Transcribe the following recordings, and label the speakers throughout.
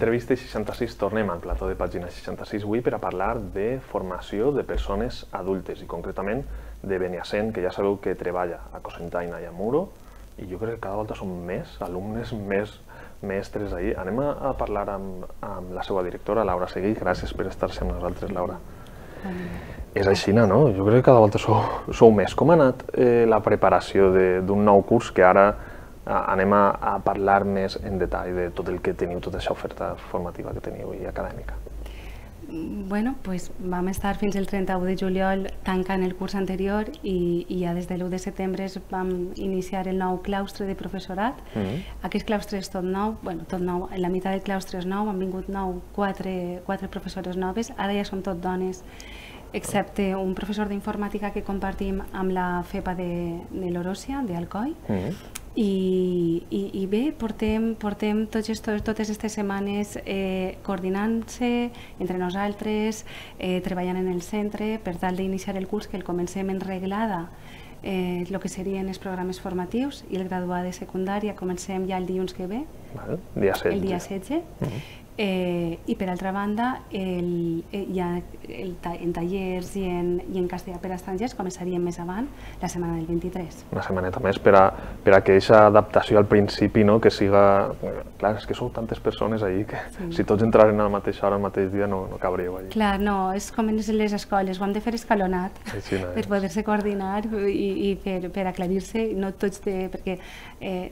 Speaker 1: Entrevista 66 tornem al plató de pàgina 66 avui per a parlar de formació de persones adultes i concretament de Beniassent, que ja sabeu que treballa a Cocentaina i a Muro, i jo crec que cada volta són més alumnes, més mestres ahí. Anem a parlar amb la seva directora, Laura Seguí. Gràcies per estar-se amb nosaltres, Laura. És així, no? Jo crec que cada volta sou més. Com ha anat la preparació d'un nou curs que ara anem a parlar més en detall de tot el que teniu, tota aquesta oferta formativa que teniu i acadèmica?
Speaker 2: Bueno, pues vam estar fins el 31 de juliol tancant el curs anterior i ja des de l'1 de setembre vam iniciar el nou claustre de professorat. Aquest claustre és tot nou, tot nou, la meitat del claustre és nou, han vingut quatre professores noves, ara ja som tot dones, excepte un professor d'informàtica que compartim amb la FEPA de l'Oròsia, d'Alcoi. I bé, portem totes aquestes setmanes coordinant-se entre nosaltres, treballant en el centre per tal d'iniciar el curs, que el comencem en reglada, el que serien els programes formatius, i el graduat de secundària comencem ja el dilluns que ve, el dia 16. I per altra banda, en tallers i en castellà per a estrangers començaríem més avant, la setmana del 23.
Speaker 1: Una setmaneta més per a que aquesta adaptació al principi, que siga... Clar, és que sou tantes persones allí que si tots entraren a la mateixa hora, al mateix dia, no cabríeu allí.
Speaker 2: Clar, no, és com en les escoles, ho hem de fer escalonat per poder-se coordinar i per aclarir-se, no tots, perquè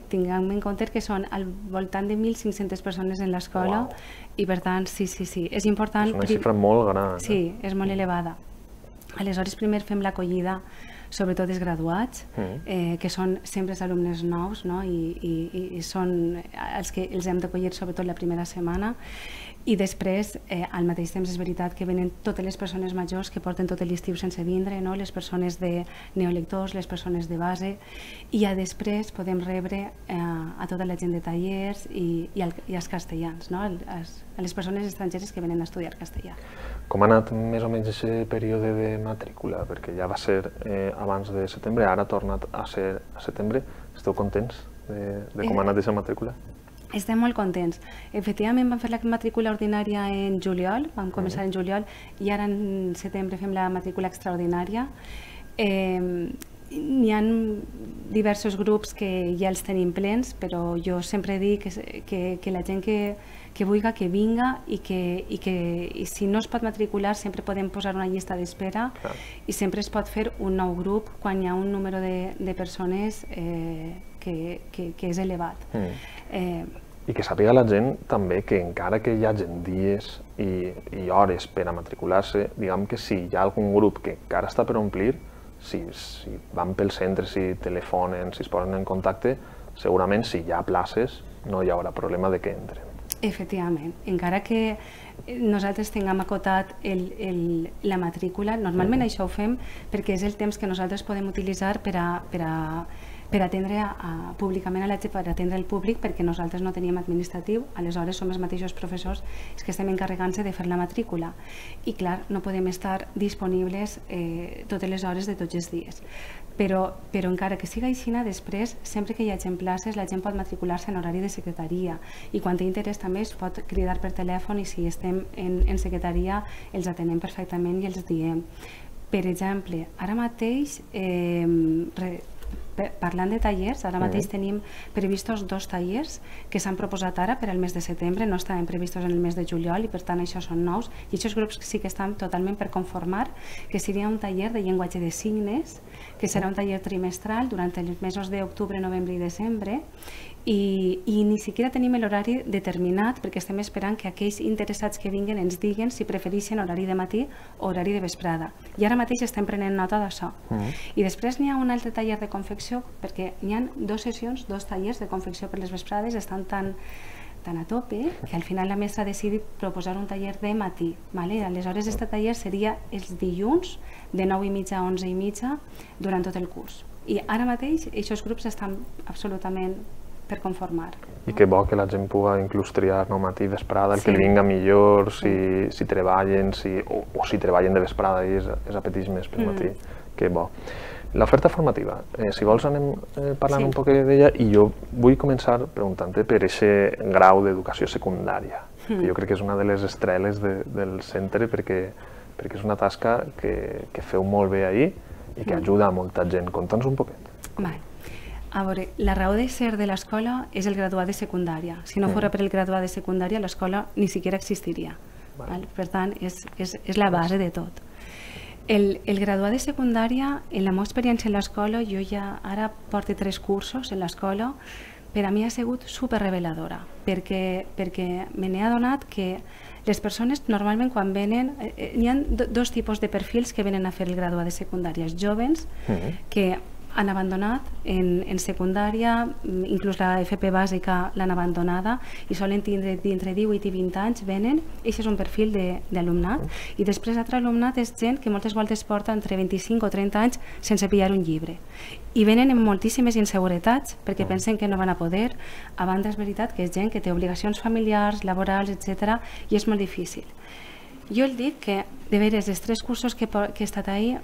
Speaker 2: tinguem en compte que són al voltant de 1.500 persones en l'escola. I per tant, sí, és important...
Speaker 1: És una xifra molt gran.
Speaker 2: Sí, és molt elevada. Aleshores, primer fem l'acollida, sobretot dels graduats, que són sempre els alumnes nous, i són els que els hem d'acollir sobretot la primera setmana. I després, al mateix temps, és veritat que venen totes les persones majors que porten tot l'estiu sense vindre, les persones de neolectors, les persones de base, i ja després podem rebre a tota la gent de tallers i als castellans, a les persones estrangeres que venen a estudiar castellà.
Speaker 1: Com ha anat més o menys aquest període de matrícula? Perquè ja va ser abans de setembre, ara ha tornat a ser a setembre. Esteu contents de com ha anat aquesta matrícula?
Speaker 2: Estem molt contents. Efectivament vam fer la matrícula ordinària en juliol, vam començar en juliol, i ara en setembre fem la matrícula extraordinària. N'hi ha diversos grups que ja els tenim plens, però jo sempre dic que la gent que vulgui que vinga i si no es pot matricular sempre podem posar una llista d'espera i sempre es pot fer un nou grup quan hi ha un número de persones que és elevat.
Speaker 1: I que sàpiga la gent també que encara que hi hagi dies i hores per a matricular-se, diguem que si hi ha algun grup que encara està per omplir, si van pel centre, si telefonen, si es posen en contacte, segurament si hi ha places no hi haurà problema de que entren.
Speaker 2: Efectivament, encara que nosaltres tinguem acotat la matrícula, normalment això ho fem perquè és el temps que nosaltres podem utilitzar per atendre públicament a la gent, per atendre el públic, perquè nosaltres no teníem administratiu, aleshores som els mateixos professors els que estem encarregant-se de fer la matrícula. I clar, no podem estar disponibles totes les hores de tots els dies. Però encara que siga així, després, sempre que hi hagi places, la gent pot matricular-se en horari de secretaria i quan té interès també es pot cridar per telèfon i si estem en secretaria els atenem perfectament i els diem. Per exemple, ara mateix, parlant de tallers, ara mateix tenim previstos 2 tallers que s'han proposat ara per al mes de setembre, no estaven previstos en el mes de juliol i per tant això són nous, i aquests grups sí que estan totalment per conformar, que seria un taller de llenguatge de signes, que serà un taller trimestral durant els mesos d'octubre, novembre i desembre, i ni siquiera tenim l'horari determinat perquè estem esperant que aquells interessats que vinguen ens diguen si prefereixen horari de matí o horari de vesprada. I ara mateix estem prenent nota d'això. I després n'hi ha un altre taller de confecció, perquè n'hi ha 2 sessions, 2 tallers de confecció per les vesprades, estan tan a tope que al final la mestra ha decidit proposar un taller de matí. Aleshores, aquest taller seria els dilluns de 9:30 a 11:30 durant tot el curs. I ara mateix aquests grups estan absolutament per conformar.
Speaker 1: I que bo que la gent pugui inclús triar matí, vesprada, el que li vinga millor, si treballen, o si treballen de vesprada i es apeteix més pel matí, que bo. L'oferta formativa, si vols anem parlant un poc d'ella, i jo vull començar preguntant-te per aquest grau d'educació secundària, que jo crec que és una de les estreles del centre perquè és una tasca que feu molt bé ahir i que ajuda a molta gent. Conta'ns un poquet.
Speaker 2: Vale. A veure, la raó de ser de l'escola és el graduat de secundària. Si no fos per el graduat de secundària, l'escola ni siquiera existiria. Per tant, és la base de tot. El graduat de secundària, en la meva experiència en l'escola, jo ja ara porto 3 cursos en l'escola, per a mi ha sigut superreveladora, perquè me n'he adonat que les persones normalment quan venen, hi ha 2 tipus de perfils que venen a fer el graduat de secundària. Els joves que han abandonat en secundària, inclús la FP bàsica l'han abandonada i solen tindre entre 18 i 20 anys, venen, i això és un perfil d'alumnat. I després l'altre alumnat és gent que moltes voltes porta entre 25 o 30 anys sense pillar un llibre. I venen amb moltíssimes inseguretats perquè pensen que no van a poder. A banda és veritat que és gent que té obligacions familiars, laborals, etc. i és molt difícil. Jo el dic que, de veres, els 3 cursos que he estat ahir,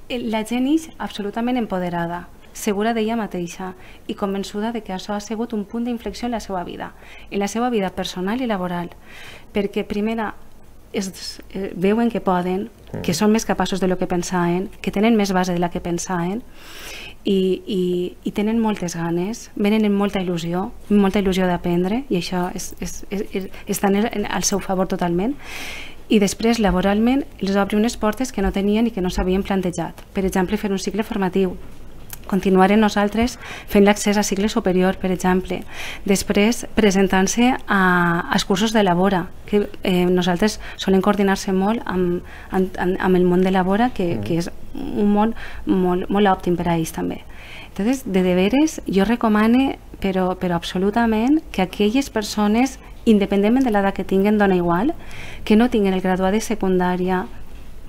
Speaker 2: la gent és absolutament empoderada, segura d'ella mateixa i convençuda de que això ha sigut un punt d'inflexió en la seva vida personal i laboral, perquè primera veuen que poden, que són més capaços de lo que pensaven, que tenen més base de la que pensaven i tenen moltes ganes, venen amb molta il·lusió d'aprendre, i això està al seu favor totalment. I després, laboralment, els obre unes portes que no tenien i que no s'havien plantejat. Per exemple, fer un cicle formatiu. Continuarem nosaltres fent l'accés a cicle superior, per exemple. Després, presentant-se als cursos de Labora, que nosaltres solem coordinar-se molt amb el món de Labora, que és un món molt òptim per a ells també. Entonces, de veres, jo recomano, però absolutament, que aquelles persones, independentment de l'edat que tinguen, dona igual, que no tinguin el graduat de secundària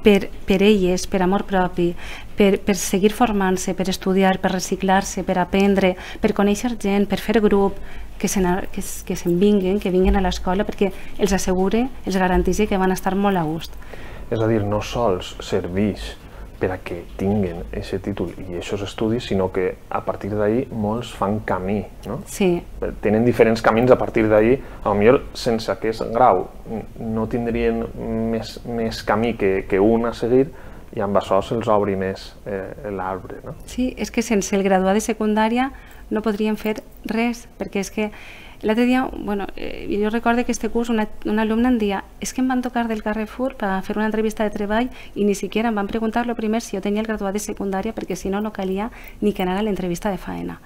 Speaker 2: per elles, per amor propi, per seguir formant-se, per estudiar, per reciclar-se, per aprendre, per conèixer gent, per fer grup, que se'n vinguin, que vinguin a l'escola, perquè els assegure, els garanteix que van estar molt a gust.
Speaker 1: És a dir, no sols serveix per a que tinguen aquest títol i aquests estudis, sinó que a partir d'ahir molts fan camí, no?
Speaker 2: Sí.
Speaker 1: Tenen diferents camins a partir d'ahir, potser sense aquest grau no tindrien més camí que un a seguir, i amb això se'ls obri més l'arbre, no?
Speaker 2: Sí, és que sense el graduat de secundària no podríem fer res, perquè és que l'altre dia, jo recordo que este curs un alumne em deia és que em van tocar del Carrefour per fer una entrevista de treball i ni siquiera em van preguntar primer si jo tenia el graduat de secundària, perquè si no, no calia ni que anara a l'entrevista de faena.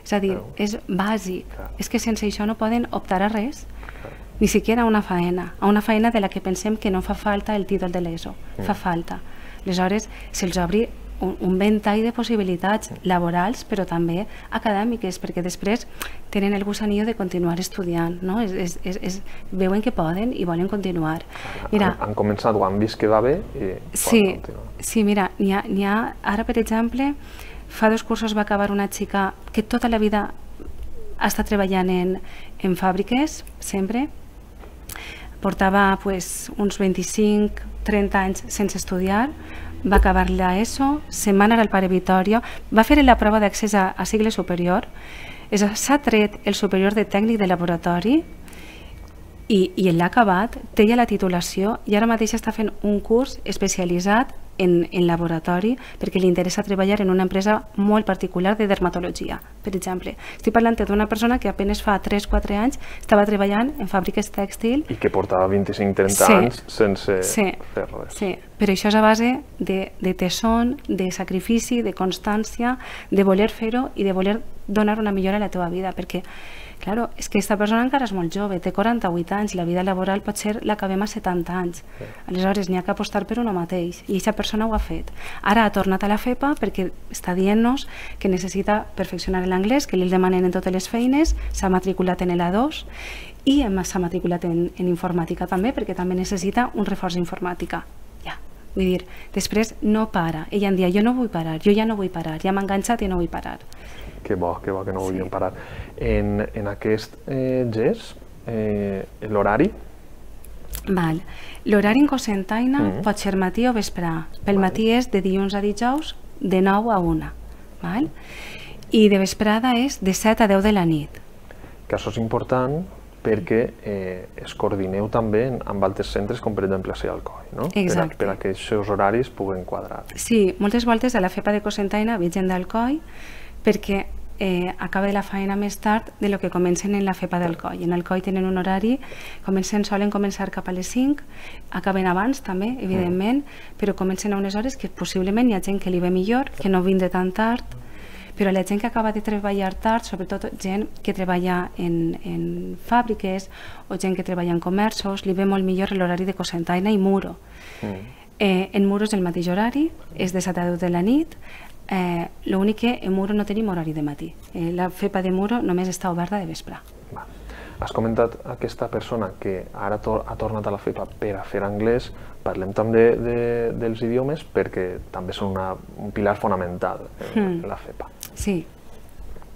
Speaker 2: És a dir, és bàsic. És que sense això no poden optar a res, ni siquiera a una faena de la que pensem que no fa falta el títol de l'ESO, fa falta. Aleshores, se'ls obri un ventall de possibilitats laborals, però també acadèmiques, perquè després tenen el gusanillo de continuar estudiant, no? Veuen que poden i volen continuar.
Speaker 1: Han començat o han vist que va bé i poden continuar.
Speaker 2: Sí, mira, n'hi ha ara, per exemple, fa 2 cursos va acabar una xica que tota la vida ha estat treballant en fàbriques, sempre. Portava uns 25-30 anys sense estudiar, va acabar l'ESO, se'n va anar al Pare Vitòria, va fer la prova d'accés a cicle superior, s'ha tret el superior de tècnic de laboratori i l'ha acabat, té ja la titulació i ara mateix està fent un curs especialitzat en laboratori perquè li interessa treballar en una empresa molt particular de dermatologia, per exemple. Estic parlant d'una persona que apenas fa 3-4 anys estava treballant en fàbriques tèxtil
Speaker 1: i que portava 25-30 anys sense fer res.
Speaker 2: Sí, però això és a base de tesón, de sacrifici, de constància, de voler fer-ho i de voler donar una millora a la teva vida, perquè claro, és que aquesta persona encara és molt jove, té 48 anys, la vida laboral pot ser l'acabem a 70 anys. Aleshores, n'hi ha que apostar per uno mateix, i aquesta persona ho ha fet. Ara ha tornat a la FEPA perquè està dient-nos que necessita perfeccionar l'anglès, que li demanen en totes les feines, s'ha matriculat en l'A2 i s'ha matriculat en informàtica també, perquè també necessita un reforç d'informàtica. Ja, Vull dir, després no para. Ella em dia, jo no vull parar, jo ja no vull parar, ja m'ha enganxat i no vull parar.
Speaker 1: Que bo que no volien parar. En aquest gest, l'horari?
Speaker 2: L'horari en Cocentaina pot ser matí o vesprà. Pel matí és de dilluns a dijous, de 9 a 1. I de vesprada és de 7 a 10 de la nit.
Speaker 1: Que això és important perquè es coordineu també amb altres centres, com per exemple a Alcoi, no?
Speaker 2: Exacte.
Speaker 1: Per a que els seus horaris puguen quadrar.
Speaker 2: Sí, moltes voltes a la FEPA de Cocentaina ve gent d'Alcoi perquè acaba de la feina més tard de lo que comencen en la FEPA d'Alcoi. En Alcoi tenen un horari, solen començar cap a les 5, acaben abans també, evidentment, però comencen a unes hores que possiblement hi ha gent que li ve millor, que no vindre tan tard, però la gent que acaba de treballar tard, sobretot gent que treballa en fàbriques o gent que treballa en comerços, li ve molt millor l'horari de Cocentaina i Muro. En Muro és el mateix horari, és de 7 a 10 de la nit. L'únic que en Muro no tenim horari de matí. La FEPA de Muro només està oberta de vespre.
Speaker 1: Has comentat aquesta persona que ara ha tornat a la FEPA per a fer anglès. Parlem també dels idiomes perquè també són un pilar fonamental en la FEPA.
Speaker 2: Sí.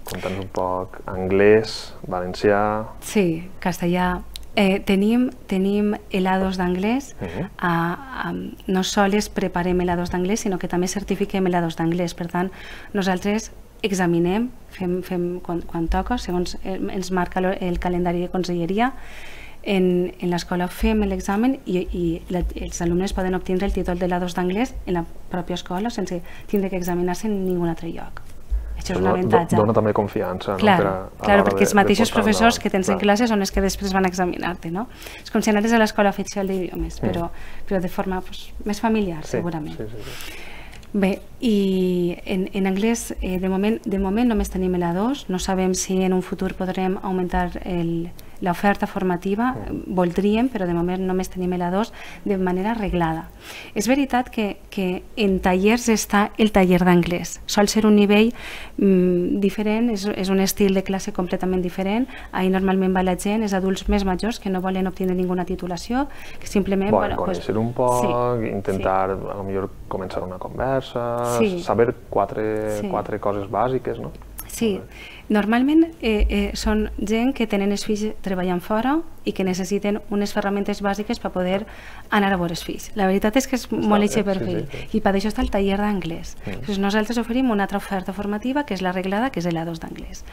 Speaker 1: Conta'ns un poc anglès, valencià...
Speaker 2: Sí, castellà. Tenim helados d'anglès. No sols preparem helados d'anglès, sinó que també certifiquem helados d'anglès. Per tant, nosaltres examinem, fem quan toca, segons ens marca el calendari de conselleria. En l'escola fem l'examen i els alumnes poden obtenir el títol d'helados d'anglès en la pròpia escola sense tindre que examinar-se en ningun altre lloc. Això és un avantatge.
Speaker 1: Dona també confiança.
Speaker 2: Clar, perquè els mateixos professors que tens en classe són els que després van a examinar-te. És com si anaves a l'escola oficial d'idiomes, però de forma més familiar, segurament. Bé, i en anglès de moment només tenim l'A2, no sabem si en un futur podrem augmentar l'oferta formativa, voldríem, però de moment només tenim l'A2 de manera reglada. És veritat que en tallers està el taller d'anglès, sol ser un nivell diferent, és un estil de classe completament diferent, ahir normalment va la gent, és adults més majors que no volen obtenir ninguna titulació, que simplement...
Speaker 1: Conèixer un poc, intentar potser començar una conversa, saber quatre coses bàsiques, no?
Speaker 2: Sí, normalment són gent que tenen els fills treballant fora i que necessiten unes ferramentes bàsiques per poder anar a veure els fills. La veritat és que és molt eixe perfil i per això està el taller d'anglès. Nosaltres oferim una altra oferta formativa que és la reglada, que és l'A2 d'anglès.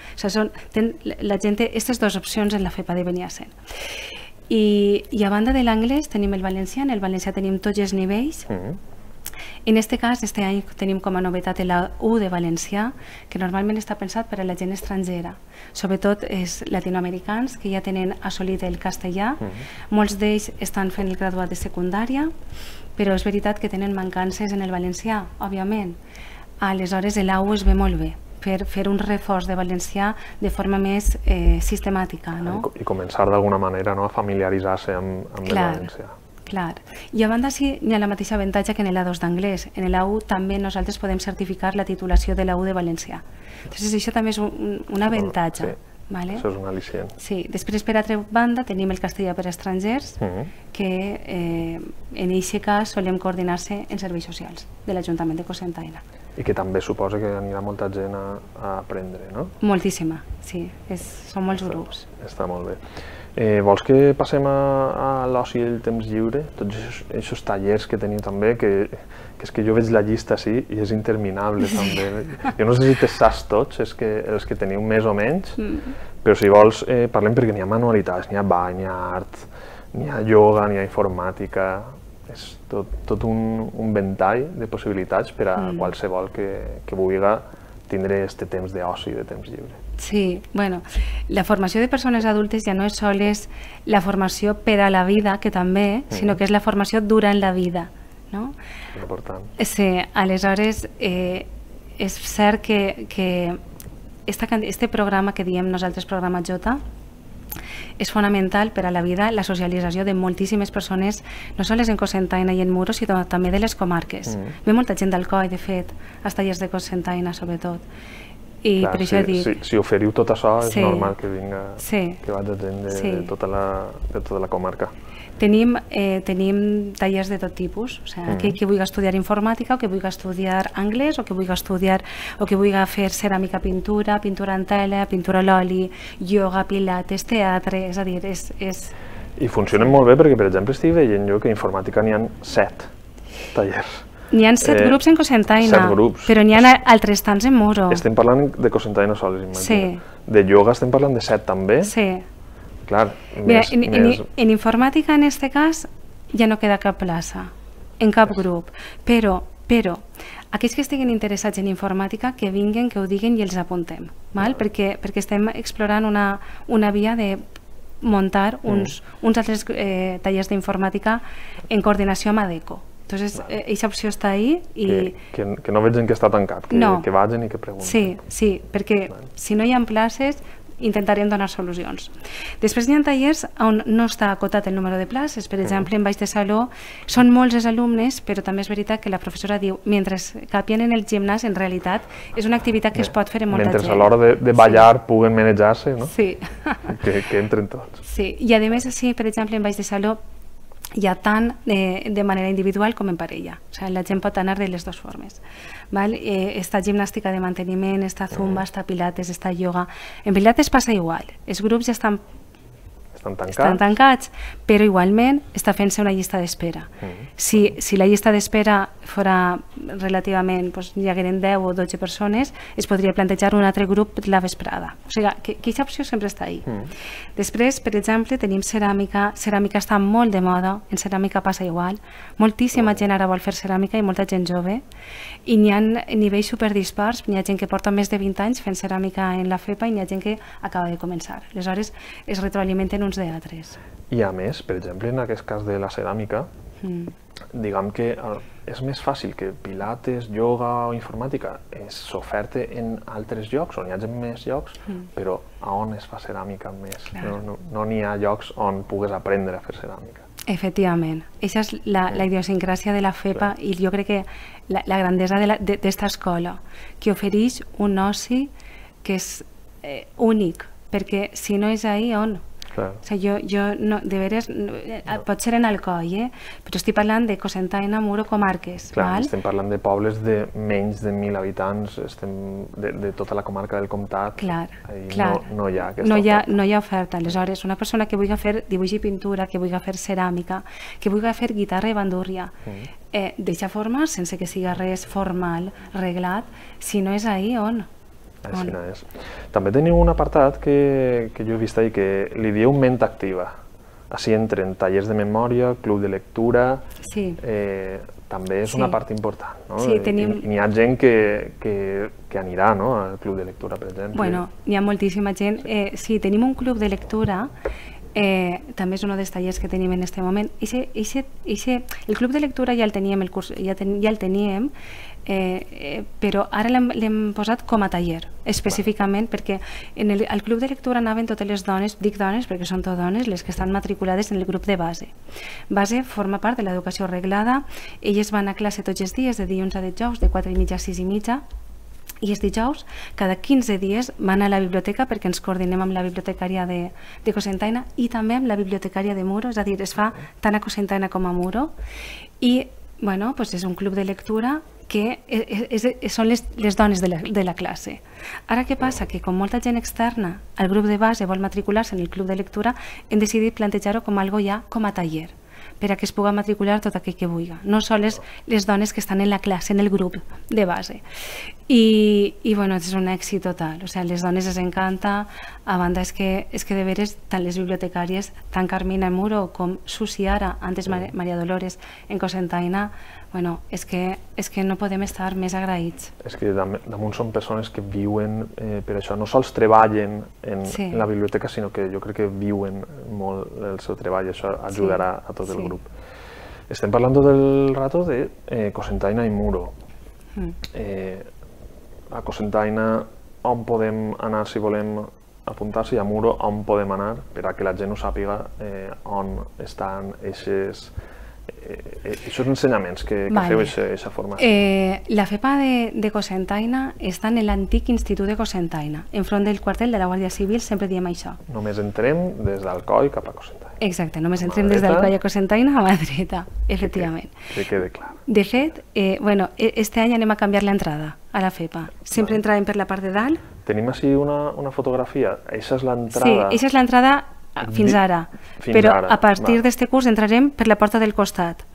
Speaker 2: La gent té aquestes dues opcions en la FEPA de Beniassent. I a banda de l'anglès tenim el valencià, en el valencià tenim tots els nivells. En aquest cas, aquest any tenim com a novetat l'A1 de valencià, que normalment està pensat per a la gent estrangera. Sobretot els latinoamericans que ja tenen assolit el castellà. Molts d'ells estan fent el graduat de secundària, però és veritat que tenen mancances en el valencià, òbviament. Aleshores, l'A1 es ve molt bé per fer un reforç de valencià de forma més sistemàtica.
Speaker 1: I començar d'alguna manera a familiaritzar-se amb el valencià.
Speaker 2: Clar. I a banda sí, hi ha la mateixa avantatge que en l'A2 d'anglès. En l'A1 també nosaltres podem certificar la titulació de l'A1 de valencià. Entonces això també és un avantatge.
Speaker 1: Això és un al·licient.
Speaker 2: Sí. Després, per altra banda, tenim el castellà per a estrangers, que en aquest cas solem coordinar-se en serveis socials de l'Ajuntament de Cocentaina.
Speaker 1: I que també suposa que anirà molta gent a aprendre, no?
Speaker 2: Moltíssima, sí. Són molts grups.
Speaker 1: Està molt bé. Vols que passem a l'oci i el temps lliure? Tots aquests tallers que tenim també, que és que jo veig la llista així i és interminable també. Jo no sé si te saps tots, els que teniu més o menys, però si vols parlem perquè n'hi ha manualitats, n'hi ha ball, n'hi ha art, n'hi ha ioga, n'hi ha informàtica... És tot un ventall de possibilitats per a qualsevol que vulgui tindre aquest temps d'oci i de temps lliure.
Speaker 2: Sí, bueno, la formació de persones adultes ja no és sols la formació per a la vida, que també, sinó que és la formació durant la vida, no?
Speaker 1: Important.
Speaker 2: Sí, aleshores és cert que este programa que diem nosaltres, programa J, és fonamental per a la vida, la socialització de moltíssimes persones, no sols en Cocentaina i en Muro, sinó també de les comarques. Ve molta gent d'Alcoi, de fet, als tallers de Cocentaina, sobretot. I per això dic...
Speaker 1: Si oferiu tot això, és normal que vinga, que vagi gent de tota la comarca.
Speaker 2: Tenim tallers de tot tipus, o sigui, que vulgui estudiar informàtica, o que vulgui estudiar anglès, o que vulgui fer ceràmica, pintura en tela, pintura a l'oli, ioga, pilates, teatre, és a dir, és...
Speaker 1: I funcionen molt bé perquè, per exemple, estic veient jo que a informàtica n'hi ha 7 tallers.
Speaker 2: N'hi ha 7 grups en Cocentaina,
Speaker 1: 7 grups.
Speaker 2: Però n'hi ha altres tants en Muro.
Speaker 1: Estem parlant de Cocentaina sols, imagino.
Speaker 2: Sí.
Speaker 1: De ioga estem parlant de 7 també?
Speaker 2: Sí.
Speaker 1: Clar,
Speaker 2: mira, en informàtica, en aquest cas, ja no queda cap plaça, en cap grup, però aquells que estiguin interessats en informàtica, que vinguin, que ho diguin i els apuntem, perquè estem explorant una via de muntar uns altres tallers d'informàtica en coordinació amb ADECO. Entonces, aquesta opció està ahí i...
Speaker 1: Que no vegin que està tancat, que vagin i que preguntin.
Speaker 2: Sí, perquè si no hi ha places intentarem donar solucions. Després hi ha tallers on no està acotat el número de places. Per exemple, en baix de saló són molts els alumnes, però també és veritat que la professora diu, mentre capien en el gimnàs, en realitat és una activitat que es pot fer en molta gent.
Speaker 1: Mentre a l'hora de ballar puguen manejar-se, no?
Speaker 2: Sí.
Speaker 1: Que entren tots.
Speaker 2: Sí, i a més, sí, per exemple, en baix de saló hi ha tant de manera individual com en parella. O sigui, la gent pot anar de les dues formes. Està gimnàstica de manteniment, està zumba, està pilates, està ioga. En pilates passa igual. Els grups ja estan tancats, però igualment està fent-se una llista d'espera. Si la llista d'espera fora relativament, hi hagueren 10 o 12 persones, es podria plantejar un altre grup la vesprada. O sigui, que aquesta opció sempre està ahí. Després, per exemple, tenim ceràmica. Ceràmica està molt de moda, en ceràmica passa igual. Moltíssima gent ara vol fer ceràmica i molta gent jove. I n'hi ha nivells superdispars, n'hi ha gent que porta més de 20 anys fent ceràmica en la FEPA i n'hi ha gent que acaba de començar. Aleshores, es retroalimenten uns de altres.
Speaker 1: I a més, per exemple, en aquest cas de la ceràmica, diguem que és més fàcil que pilates, ioga o informàtica s'oferte en altres llocs, on hi hagi més llocs, però a on es fa ceràmica més? No n'hi ha llocs on pugues aprendre a fer ceràmica.
Speaker 2: Efectivament. Aquesta és la idiosincràsia de la FEPA i jo crec que la grandesa d'esta escola, que ofereix un oci que és únic, perquè si no és ahí, on? O sigui, jo de veres, pot ser en Alcoi, però estic parlant de Cocentaina, Muro, comarques.
Speaker 1: Clar, estem parlant de pobles de menys de 1.000 habitants, de tota la comarca del Comtat.
Speaker 2: Clar.
Speaker 1: No hi ha aquesta oferta.
Speaker 2: No hi ha oferta. Aleshores, una persona que vulgui fer dibuix i pintura, que vulgui fer ceràmica, que vulgui fer guitarra i bandúrria, d'aquesta forma, sense que sigui res formal, reglat, si no és ahí, on?
Speaker 1: També teniu un apartat que jo he vist ahir que li dieu ment activa. Així entren tallers de memòria, club de lectura, també és una part important. N'hi ha gent que anirà al club de lectura, per exemple.
Speaker 2: Bueno, hi ha moltíssima gent. Sí, tenim un club de lectura, també és un dels tallers que tenim en aquest moment. El club de lectura ja el teníem, però ara l'hem posat com a taller, específicament perquè al club de lectura anaven totes les dones, dic dones perquè són totes dones, les que estan matriculades en el grup de base. Base forma part de l'educació reglada, elles van a classe tots els dies, de dilluns a dijous, de 4:30 a 6:30, i els dijous, cada 15 dies, van a la biblioteca perquè ens coordinem amb la bibliotecària de Cocentaina i també amb la bibliotecària de Muro, és a dir, es fa tant a Cocentaina com a Muro, i és un club de lectura que són les dones de la classe. Ara què passa? Que com molta gent externa al grup de base vol matricular-se en el club de lectura, hem decidit plantejar-ho com algo ja com a taller, per a que es pugui matricular tot aquell que vulgui, no sols les dones que estan en la classe, en el grup de base. I és un èxit total, o sigui, les dones les encanta, a banda és que de veres tant les bibliotecàries, tant Carmina en Muro com Susi ara, antes Maria Dolores en Cocentaina, és que no podem estar més agraïts.
Speaker 1: És que damunt són persones que viuen per això, no sols treballen en la biblioteca, sinó que jo crec que viuen molt el seu treball, això ajudarà a tot el grup. Estem parlant del rato de Cocentaina i Muro. A Cocentaina on podem anar si volem apuntar-se i a Muro on podem anar per a que la gent ho sàpiga on estan aquestes Aquests ensenyaments que feu aquesta formació?
Speaker 2: La FEPA de Cocentaina està en l'antic Institut de Cocentaina, enfront del quartel de la Guàrdia Civil, sempre diem això.
Speaker 1: Només entrem des d'Alcoi cap a Cocentaina.
Speaker 2: Exacte, només entrem des d'Alcoi a Cocentaina a mà dreta, efectivament.
Speaker 1: Que quede clar.
Speaker 2: De fet, este any anem a canviar l'entrada a la FEPA. Sempre entràvem per la part de dalt.
Speaker 1: Tenim així una fotografia. Eixa és l'entrada...
Speaker 2: Sí, eixa és l'entrada fins ara. Però a partir d'este curs entrarem per la porta del costat.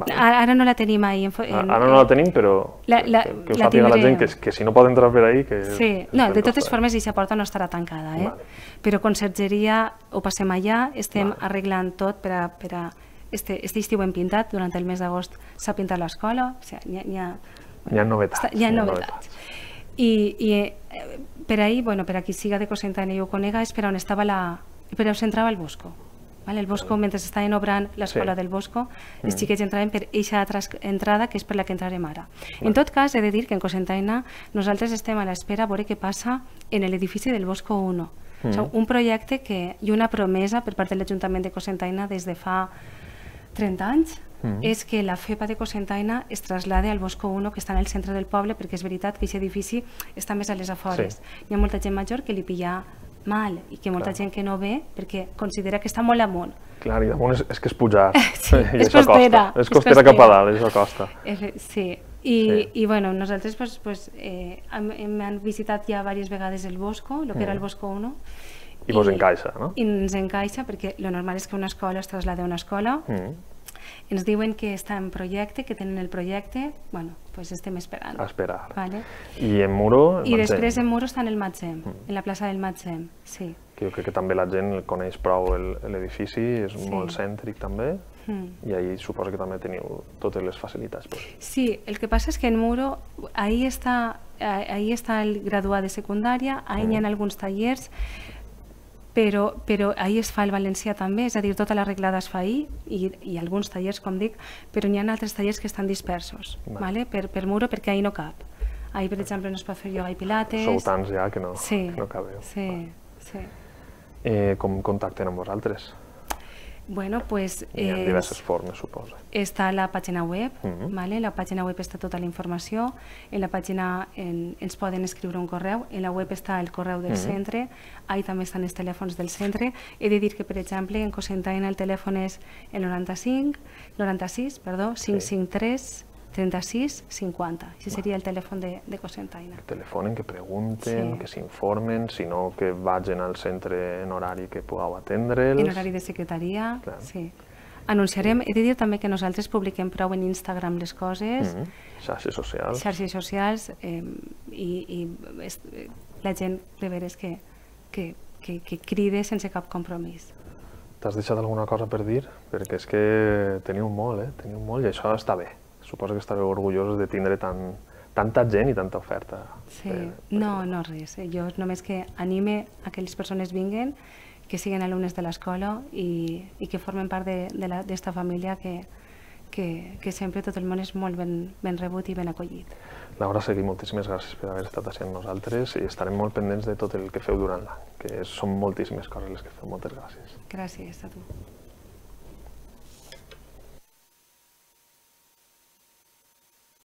Speaker 2: Ara no la tenim ahí.
Speaker 1: Ara no la tenim, però que ho sàpiga la gent, que si no pot entrar per ahí...
Speaker 2: Sí, no, de totes formes, aquesta porta no estarà tancada, però consergeria ho passem allà, estem arreglant tot per a... Este estiu hem pintat, durant el mes d'agost s'ha pintat l'escola,
Speaker 1: hi ha novetats.
Speaker 2: Hi ha novetats. I per ahí, per a qui siga de Cocentaina i ho conega, és per on estava per on s'entrava el Bosco. El Bosco, mentre estaven obrant l'escola del Bosco, els xiquets entraven per aquesta altra entrada, que és per la que entrarem ara. En tot cas, he de dir que en Cocentaina nosaltres estem a l'espera a veure què passa en l'edifici del Bosco 1. Un projecte i una promesa per part de l'Ajuntament de Cocentaina des de fa 30 anys és que la FEPA de Cocentaina es trasllada al Bosco 1, que està en el centre del poble, perquè és veritat que aquest edifici està més a les afores. Hi ha molta gent major que li pilla mal i que molta gent que no ve perquè considera que està molt amunt.
Speaker 1: Clar, i damunt és que és pujar.
Speaker 2: És costera.
Speaker 1: És costera cap a dalt, és la costa.
Speaker 2: Sí. I nosaltres hem visitat ja diverses vegades el Bosco, el que era el Bosco 1.
Speaker 1: I vos encaixa, no?
Speaker 2: I ens encaixa perquè el normal és que una escola es trasllada a una escola. Ens diuen que està en projecte, que tenen el projecte, estem esperant.
Speaker 1: A esperar. I en Muro?
Speaker 2: I després en Muro està en el Matzem, en la plaça del Matzem, sí.
Speaker 1: Jo crec que també la gent coneix prou l'edifici, és molt cèntric també, i ahí suposo que també teniu totes les facilitats.
Speaker 2: Sí, el que passa és que en Muro, ahí està el graduat de secundària, ahí hi ha alguns tallers, però ahí es fa el valencià també, és a dir, tota l'arreglada es fa ahí, i alguns tallers, com dic, però hi ha altres tallers que estan dispersos, per Muro, perquè ahí no cap. Ahí, per exemple, no es pot fer ioga i pilates.
Speaker 1: Sou tants ja que no cabeu.
Speaker 2: Sí.
Speaker 1: Com contacten amb vosaltres?
Speaker 2: Bueno, pues...
Speaker 1: Hi ha diverses formes, suposo.
Speaker 2: Està la pàgina web, la pàgina web està tota la informació, en la pàgina ens poden escriure un correu, en la web està el correu del centre, ahí també estan els telèfons del centre. He de dir que, per exemple, en Cocentaina el telèfon és el 96 553 36 50. Això seria el telèfon de Cocentaina.
Speaker 1: Que telefonen, que pregunten, que s'informen, sinó que vagin al centre en horari que pugueu atendre'ls.
Speaker 2: En horari de secretaria, sí. Anunciarem, he de dir també que nosaltres publiquem prou en Instagram les coses.
Speaker 1: Xarxes socials.
Speaker 2: Xarxes socials, i la gent de veres que cride sense cap compromís.
Speaker 1: T'has deixat alguna cosa per dir? Perquè és que teniu molt, i això està bé. Suposo que estareu orgullosos de tindre tanta gent i tanta oferta.
Speaker 2: Sí, no res. Jo només que anime a que les persones vinguen, que siguin alumnes de l'escola i que formen part d'esta família que sempre tot el món és molt ben rebut i ben acollit.
Speaker 1: Laura Seguí, moltíssimes gràcies per haver estat així amb nosaltres i estarem molt pendents de tot el que feu durant l'any, que són moltíssimes coses les que feu. Moltes gràcies.
Speaker 2: Gràcies a tu.